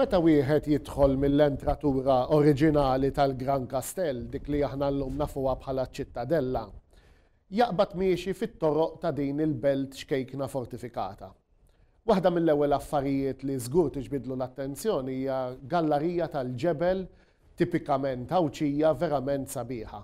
Meta wieħed jidħol mill-entratura oriġinali tal-Gran Kastell, dik li aħna llum nafuha bħala ċ-Ċittadella, jaqbad miexi fit-toroq ta' din il-belt ċkejkna fortifikata. Waħda mill-ewwel affarijiet li żgur tiġbidlu l-attenzjoni hija gallarija tal-ġebel tipikament Għawdxija verament sabiħa.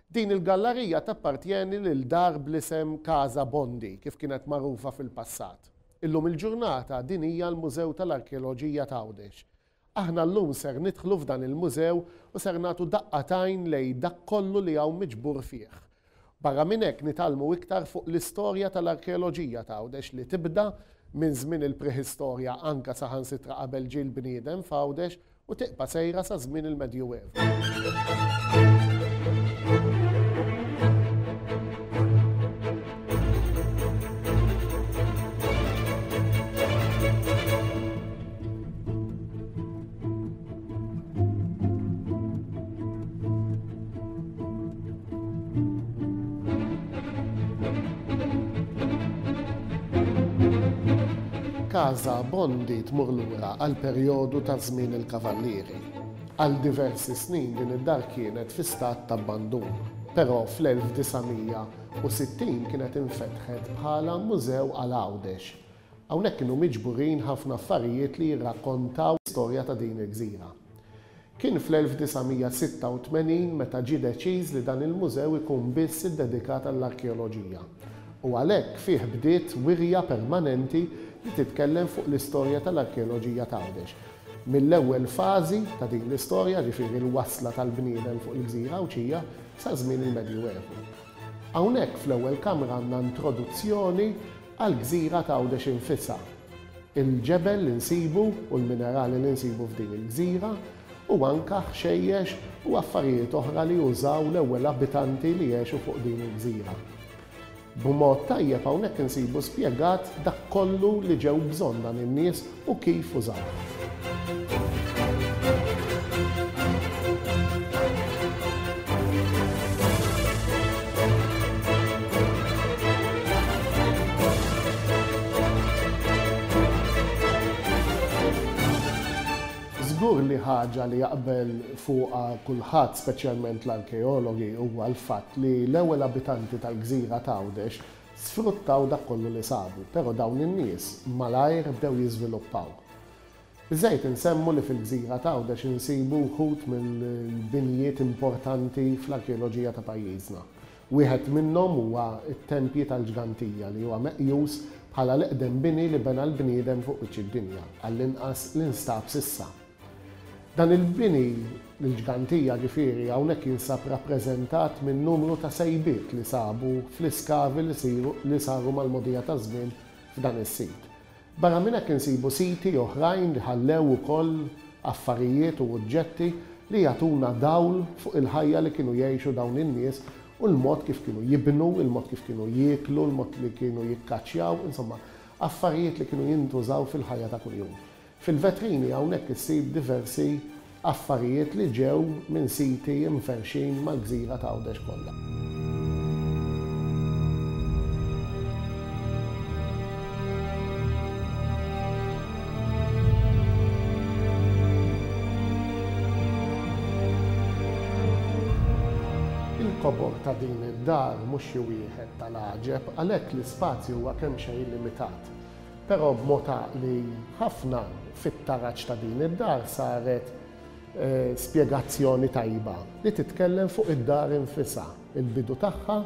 Din il-gallarija tappartjeni lil dar bl-isem Casa Bondi, kif kienet magħrufa fil-passat. Illum il-ġurnata din hija l-Mużew tal-Arkeoloġija t'Għawdex. Aħna llum ser nidħlu f'dan il-mużew u ser nagħtu daqqa t'għajn lejn dak kollu li hawn miġbur fih. Barra minn hekk nitgħallmu iktar fuq l-istorja tal-arkeoloġija t'Għawdex li tibda minn żmien il-prehistorja anka saħansitra qabel ġie l-bniedem f'Għawdex u tibqa' sejra sa żmien il-Medjuevu. Casa Bondi tmur lura għall-perjodu ta' żmien il-Kavallieri. Għal diversi snin din id-dar kienet fi stat t'abbandun, però fl-1960 kienet infetħet bħala mużew għal Għawdex. Hawnhekk kienu miġburin ħafna affarijiet li jirrakkontaw l-istorja ta' din il-gżira. Kien fl-1986 meta ġie deċiż li dan il-mużew ikun biss iddedikat għall-arkeoloġija u għalhekk fih bdiet wirja permanenti li titkellem fuq l-istorja tal-arkeoloġija t'Għawdex, mill-ewwel fażi ta' din l-istorja, ġifieri l-wasla tal-bniedem fuq il-gżira Għawdxija, sa żmien il-Medjuevu. Hawnhekk fl-ewwel kamra għandna introduzzjoni għall-gżira t'Għawdex infisha. il-ġebel li nsibu u l-minerali li nsibu f'din il-gżira u anka ħxejjex u affarijiet oħra li użaw l-ewwel abitanti li għexu fuq din il-gżira. B'mod tajjeb hawnhekk insibu spjegat dak kollu li ġew bżonn dan in-nies u kif użawh. Żgur li ħaġa li jaqbel fuqha kulħadd, speċjalment l-arkeologi, huwa l-fatt li l-ewwel abitanti tal-gżira t'Għawdex sfruttaw dak kollu li sabu, però dawn in-nies malajr bdew jiżviluppaw. Biżżejjed insemmu li fil-gżira t'Għawdex insibu wħud mill-binjiet importanti fl-arkeoloġija ta' pajjiżna. Wieħed minnhom huwa t-Tempji tal-Ġgantija li huwa meqjus bħala l-eqdem bini li bena l-bniedem fuq wiċċ id-dinja, għall-inqas li nstab s'issa. Dan il-bini, l-Ġgantija ġifieri, hawnhekk jinsab rappreżentat minn numru ta' sejbiet li sabu fl-iskavi li saru mal-mogħdija taż-żmien f'dan is-sit. Barra minn hekk insibu siti oħrajn li ħallew ukoll affarijiet u oġġetti li jagħtuna dawl fuq il-ħajja li kienu jgħixu dawn in-nies u l-mod kif kienu jibnu, il-mod kif kienu jieklu, il-mod li kienu jikkaċċjaw, insomma, affarijiet li kienu jintużaw fil-ħajja ta' kuljum. Fil-vetrini hawnhekk issib diversi affarijiet li ġew minn siti mferrxin mal-gżira t'Għawdex kollha. Il-kobor ta' din id-dar mhux xi wieħed tal-għaġeb għalhekk l-ispazju huwa kemxejn limitat. Però b'mod għaqli ħafna, fit-taraġ ta' din id-dar saret spjegazzjoni tajba li titkellem fuq id-dar infisha, il-bidu tagħha,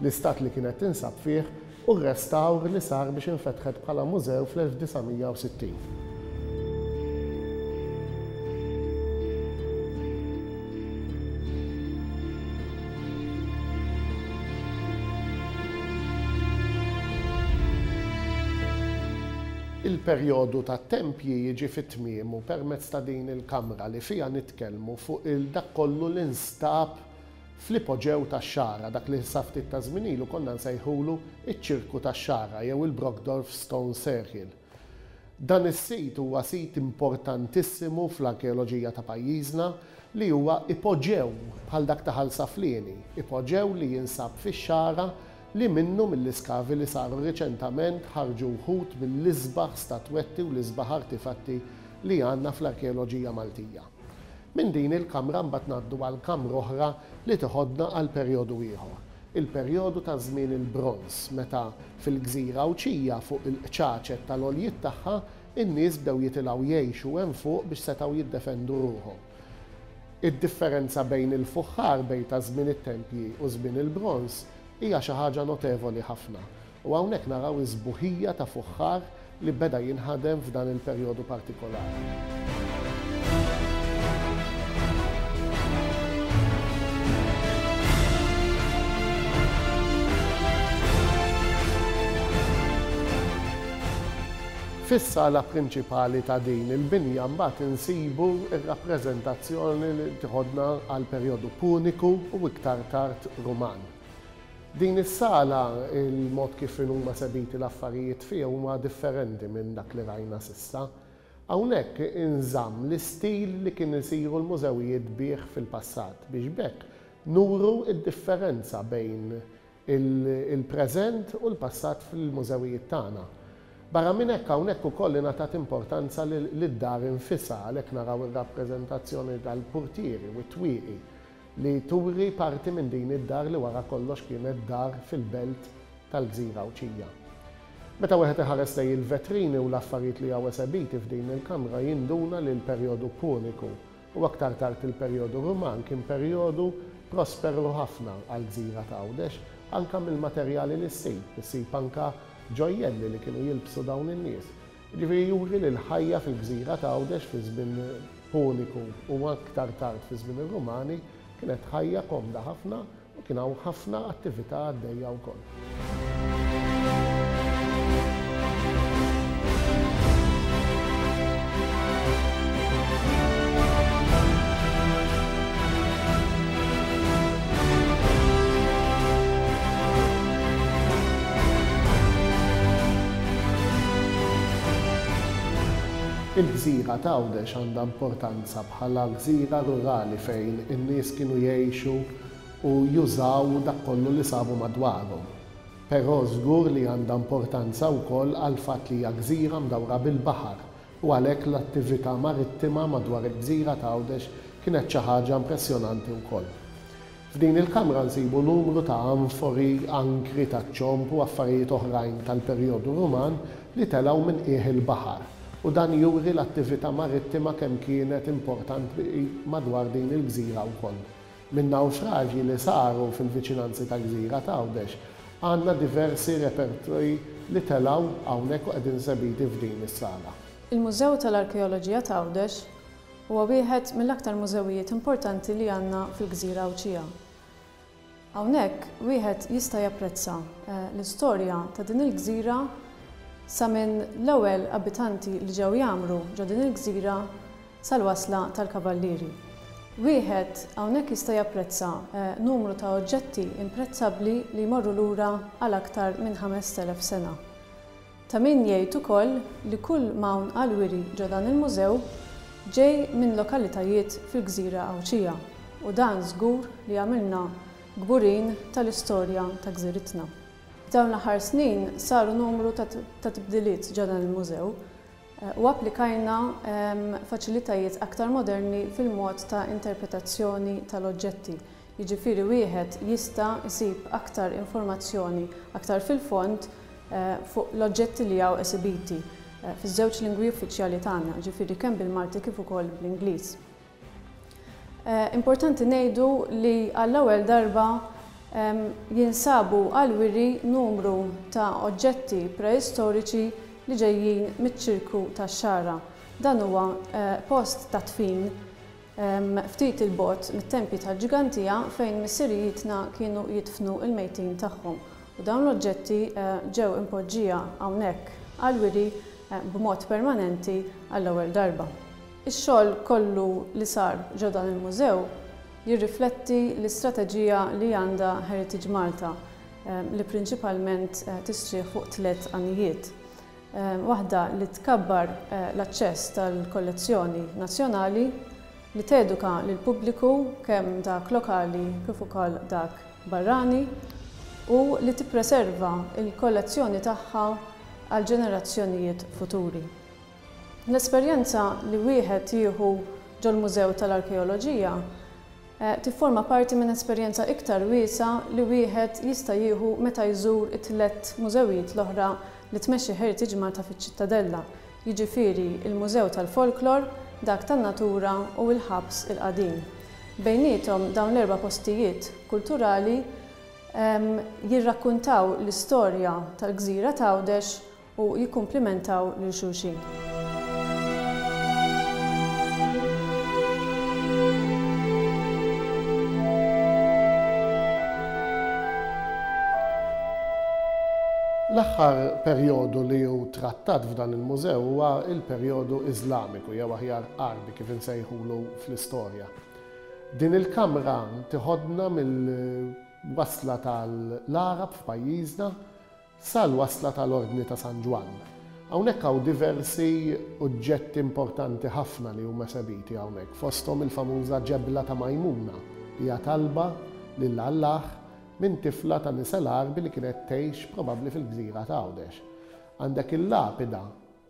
l-istat li kienet tinsab fih u r-restawr li sar biex infetħet bħala mużew fl-1960. Il-perjodu tat-tempji jiġi fi tmiemu permezz ta' din il-kamra li fiha nitkellmu fuq il dak kollu li nstab fl-ipoġew tax-Xagħra, dak li sa ftit ta' żmien ilu konna nsejħulu ċ-Ċirku tax-Xagħra jew il-Brockdorff Stone Circle. Dan is-sit huwa sit importantissimu fl-arkeoloġija ta' pajjiżna li huwa ipoġew bħal dak ta' Ħal Saflieni, ipoġew li jinsab fix-Xagħra li minnu mill-iskavi li saru riċentament ħarġu wħud mill-isbaħ statwetti u l-isbaħ artifatti li għandna fl-arkeoloġija Maltija. Minn din il-kamra mbagħad ngħaddu għal kamra oħra li teħodna għal perjodu ieħor, il-perjodu ta' żmien il-Bronż meta fil-gżira Għawdxija fuq il-qċaċet tal-għoljiet tagħha in-nies bdew jitilgħu jgħixu hemm fuq biex setgħu jiddefendu ruħhom. Id-differenza bejn il-fuħħar bejn ta' żmien it-tempji u żmien il-Bronż hija xi ħaġa notevoli ħafna u hawnhekk naraw is-sbuħija ta' fuħħar li beda jinħadem f'dan il-perjodu partikolari. Fis-sala prinċipali ta' din il-binja mbagħad insibu r-rappreżentazzjoni li tiħodna għall-perjodu Puniku u iktar tard Ruman. Din is-sala, il-mod kif inhuma esebiti l-affarijiet fiha huma differenti minn dak li rajna s'issa. Hawnhekk inżamm l-istil li kien isiru l-mużewijiet bih fil-passat biex b'hekk nuru d-differenza bejn il-preżent u l-passat fil-mużewijiet tagħna. Barra minn hekk hawnhekk ukoll ingħatat importanza lid-dar infisha għalhekk naraw ir-rappreżentazzjoni tal-purtieri u t-twieqi li turi parti minn din id-dar li wara kollox kienet dar fil-belt tal-gżira Għawdxija. Meta wieħed iħares lejn il-vetrini u l-affarijiet li hawn esebiti f'din il-kamra jinduna li l-perjodu Puniku u aktar tard il-perjodu Ruman kien perjodu prosperu ħafna għall-gżira ta' Għawdex anke mill-materjali li ssib. Issib anke ġojjelli li kienu jilbsu dawn in-nies. Jiġifieri juri li l-ħajja fil-gżira ta' Għawdex fi żmien Puniku u aktar tard fi żmien ir-Rumani kienet ħajja komda ħafna u kien hawn ħafna attività għaddejja wkoll. Il-gżira t'Għawdex għandha importanza bħala gżira rurali fejn in-nies kienu jgħixu u jużaw dak kollu li sabu madwarhom. Però żgur li għandha importanza wkoll għall-fatt li hija gżira mdawra bil-baħar u għalhekk l-attività marittima madwar il-gżira t'Għawdex kienet xi ħaġa impressjonanti wkoll. F'din il-kamra nsibu numru ta' anfori, ankri taċ-ċomb u affarijiet oħrajn tal-perjodu Ruman li telgħu minn qiegħ il-baħar u dan juri l-attività marittima kemm kienet importanti madwar din il-gżira wkoll. Minn nawfraġji li saru fil-viċinanzi tal-gżira t'Għawdex għandna diversi repertri li telgħu hawnhekk u qegħdin esebiti f'din is-sala. Il-Mużew tal-Arkeoloġija t'Għawdex Huwa wieħed mill-aktar mużewijiet importanti li għandna fil-gżira Għawdxija. Hawnhekk wieħed jista' japprezza l-istorja ta' din il-gżira sa minn l-ewwel abitanti li ġew jgħammru ġo din il-gżira sal-wasla tal-Kavallieri. Wieħed hawnhekk jista' japprezza numru ta' oġġetti imprezzabbli li jmorru lura għal aktar minn 5,000 sena. Ta' min jgħid ukoll li kull m'hawn għall-wiri ġo dan il-mużew ġej minn lokalitajiet fil-gżira Għawdxija u dan żgur li jagħmilna kburin tal-istorja ta' gżiritna. F'dawn l-aħħar snin saru numru ta' tibdiliet ġo dan il-mużew u applikajna faċilitajiet aktar moderni fil-mod ta' interpretazzjoni tal-oġġetti Jiġifieri wieħed jista' jsib aktar informazzjoni aktar fil-fond fuq l-oġġetti li hawn esibiti fiż-żewġ lingwi uffiċjali tagħna, jiġifieri kemm bil-Malti kif ukoll bl-Ingliż. Importanti ngħidu li għall-ewwel darba jinsabu għall-wiri numru ta' oġġetti preistoriċi li ġejjin miċ-Ċirku tax-Xagħra. Dan huwa post ta' dfin ftit 'il bogħod mit-tempji tal-Ġgantija fejn missirijietna kienu jidfnu l-mejtin tagħhom u dawn l-oġġetti ġew impoġġija hawnhekk għall-wiri b'mod permanenti għall-ewwel darba. Ix-xogħol kollu li sar ġo dan il-mużew jirrifletti l-istrateġija li għandha Heritage Malta li prinċipalment tistrieħ fuq tlett għanijiet. Waħda li tkabbar l-aċċess tal-kollezzjoni nazzjonali, li teduka lill-pubbliku kemm dak lokali kif ukoll dak barrani u li tippreserva l-kollezzjoni tagħha għall-ġenerazzjonijiet futuri. L-esperjenza li wieħed jieħu ġol-Mużew tal-Arkeoloġija tifforma parti minn esperjenza iktar wiesgħa li wieħed jista' jieħu meta jżur it-tlett mużewijiet l-oħra li tmexxi Heritage Malta fiċ-Ċittadella, jiġifieri l-Mużew tal-Folklor, dak tan-Natura u l-Ħabs il-Qadim. Bejniethom dawn l-erba' postijiet kulturali jirrakkuntaw l-istorja tal-gżira t'Għawdex u jikkumplimentaw lil xulxin. L-aħħar perjodu li hu trattat f'dan il-mużew huwa l-perjodu Iżlamiku jew aħjar Għarbi kif insejħulu fl-istorja. Din il-kamra tiħodna mill-wasla tal-Għarab f'pajjiżna sal-wasla tal-Ordni ta' San Ġwann. Hawnhekk hawn diversi oġġetti importanti ħafna li huma esebiti hawnhekk, fosthom il-famuża ġebla ta' Majmuna, li hija talba lil Allah minn tifla ta' nisel Għarbi li kienet tgħix probabbli fil-gżira t'Għawdex. Għandek il-lapida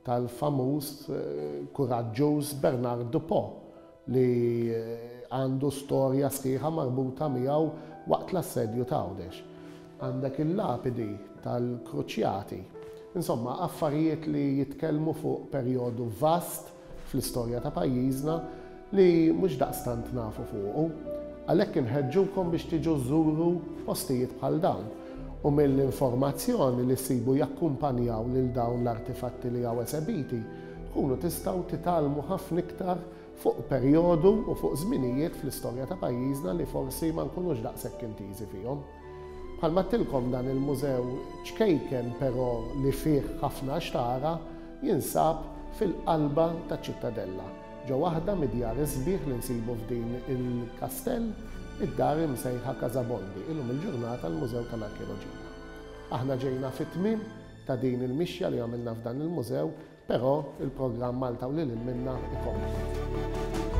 tal-famuż kuraġġuż Bernard Dupont li għandu storja sħiħa marbuta miegħu waqt l-assedju t'Għawdex. Għandek il-lapidi tal-Kruċjati. Insomma, affarijiet li jitkellmu fuq perjodu vast fl-istorja ta' pajjiżna li mhux daqstant nafu fuqu. Għalhekk inħeġġukom biex tiġu żżuru postijiet bħal dawn u mill-informazzjoni li ssibu jakkumpanjaw lil dawn l-artifatti li hawn esebiti, tkunu tistgħu titgħallmu ħafna iktar fuq perjodu u fuq żminijiet fl-istorja ta' pajjiżna li forsi ma nkunux daqshekk intiżi fihom. Bħalma għedtilkom dan il-mużew ċkejken però li fih ħafna x'tara jinsab fil-qalba taċ-Ċittadella, ġo waħda mid-djar is-sbieħ li nsibu f'din il-kastell, id-dar imsejħa Casa Bondi, illum il-ġurnata l-Mużew tal-Arkeoloġija. Aħna ġejna fit-tmiem ta' din il-mixja li għamilna f'dan il-mużew, però il-programm Malta u lil hinn minnha ikompli.